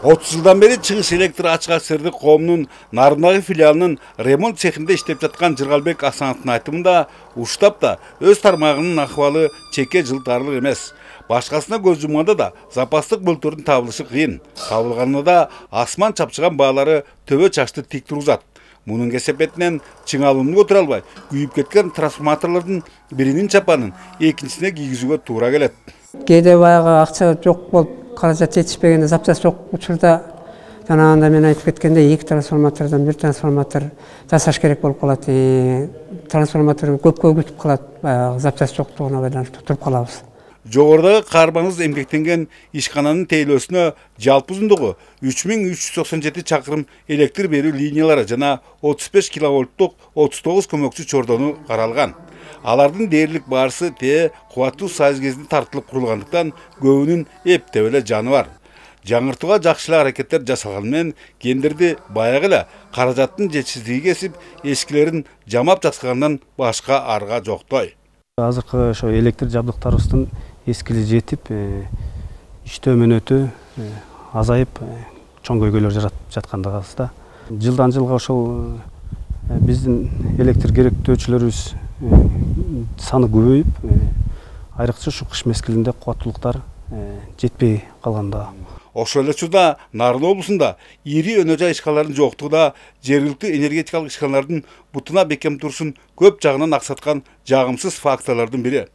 30 жылдан бeri Чыгыш электр ачык сердик коомунун Нарындагы филиалынын ремонт цехинде иштеп жаткан Жыргалбек Асановдун айтымында уштапта өз тармагынын акыбалы чекке жылтарлык эмес. Башкасына көз жумганда да запастык мөлтөрдүн табылышы кыйын. Табылганында да асман чапчыган баалары төбө чачты тик тургузат. Мунун кесепетинен чыңалууну көтөрө албай, күйүп кеткен трансформаторлордун биринин чапанын экинчисине кийгизүүгө туура келет. Кээде баягы акча жок болуп, каражат жетишпегенде, запчасть жок учурда жанагында мен айтып кеткендей 2 трансформатордон 1 трансформатор жасаш керек болуп калат. Трансформатор көпкө күтүп калат, баягы запчасть жоктугуна байланыштуу туруп калабыз. Жогорудагы каармандыз эмгектенген ишкананын тейлөөсүнө жалпы узундугу 3397 чакырым электр берүү линиялары жана 35 киловольттук 39 көмөкчү чордону каралган. Алардын дээрлик баарысы кубаттуу сайыз кезинде тартылып курулгандыктан көбүнүн эптеп эле жаны бар. Жаңыртууга жакшы эле аракеттер жасалганы менен кендерди баягы эле каражаттын жетишсиздиги кесип, эскилерин жамап жаткандан башка арга жоктой. Азыркы ошо электр жабдыктарыбыздын эскили жетип, иштөө мөөнөтү азайып, чоң көйгөйлөр жаткандыгыбызда. Жылдан жылга ошол биздин электр керектөөчүлөрүбүз саны көбөйүп, айрыкча ушу кыш мезгилинде кубаттуулуктар жетпей калганда. Ошол эле учурда Нарын облусунда ири өнө жай ишканалардын жоктугу да жергиликтүү энергетикалык ишканалардын бутуна бекем турушун көп жагынан аксаткан жагымсыз факторлордун бири.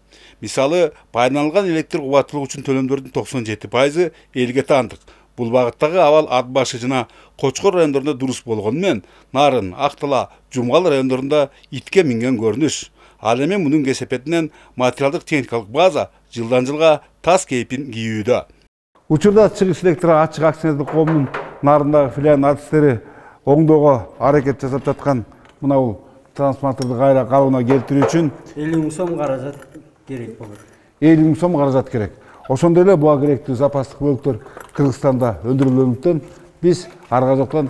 Мисалы, пайдаланылган электр кубаттуулугу үчүн төлөмдөрдүн 97% элге таандык. Бул багыттагы абал ат башы жана Кочкор райондорунда дурус болгону менен Нарын, Актала, Жумгал райондорунда итке минген көрүнүш. Ал эми мунун кесепетинен материалдык техникалык база жылдан жылга тас кейпин кийүүдө. Учурда Чыгыш электр ачык акционердик коомунун Нарындагы филиалынын артисттери оңдоого аракет жасап жаткан мына бул трансформаторду кайра калыбына келтирүү үчүн 50 миң сом каражат керек болот. 50 миң сом каражат керек. Ошондой эле буга керектүү запастык бөлүктөр Кыргызстанда өндүрүлгөндүктөн биз арга жактан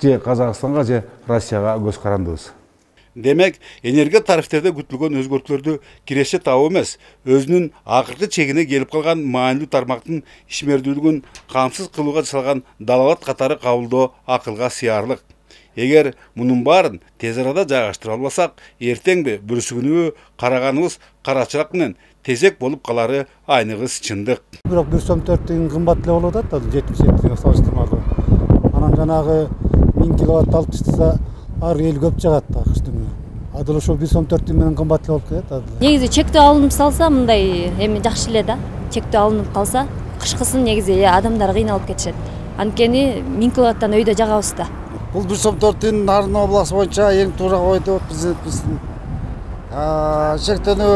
же Казакстанга же Россияга көз карандыбыз. Демек, энергия тарифтерде күтүлгөн өзгөртүүлөрдү киреше табуу эмес, өзүнүн акыркы чегине келип калган маанилүү тармактын ишмердүүлүгүн камсыз кылууга жасалган далалат катары кабылдоо акылга сыярлык. Эгер мунун баарын тез арада жайгаштыра албасак, эртеңби бүрүшүгүнүбү караганыбыз карачыраак менен тезек болуп калары айныгыс чындык. Бирок 1 сом 4 тиын кымбат эле болуп атат, 77-ге салыштырмалуу. Анан жанагы 1000 киловатт алып таштаса, ар эл көп жагат кыштын. Адыл ошол 1 сом 4 тиын менен кымбат эле болуп кетет. Негизи чектөө алынып салса, мындай эми жакшы эле да. Чектөө алынып калса, кышкысын негизи адамдар кыйналып кетишет. Анткени 1000 киловаттан өйдө жагабыз да. Бул 1 сом 4 тиын Нарын областы боюнча эң туура койду президентибиздин. Чектөөнү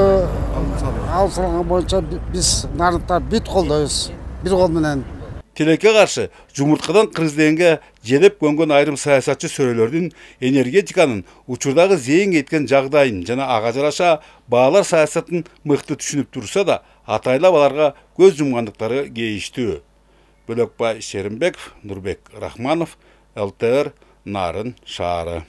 алып салган боюнча биз нарындтар бүт колдойбуз. Бир кол менен. Тилекке каршы жумурткадан кыргыз дегенге желеп көнгөн айрым саясатчы сөрөлөрдүн энергетиканын учурдагы зээн кеткен жагдайын жана ага жараша баалар саясатын мыкты түшүнүп турса да, атайлап аларга көз жумгандыктары кейиштүү. Бөлөкбай Шеримбеков, Нурбек Рахманов, ЛТР, Нарын шаары.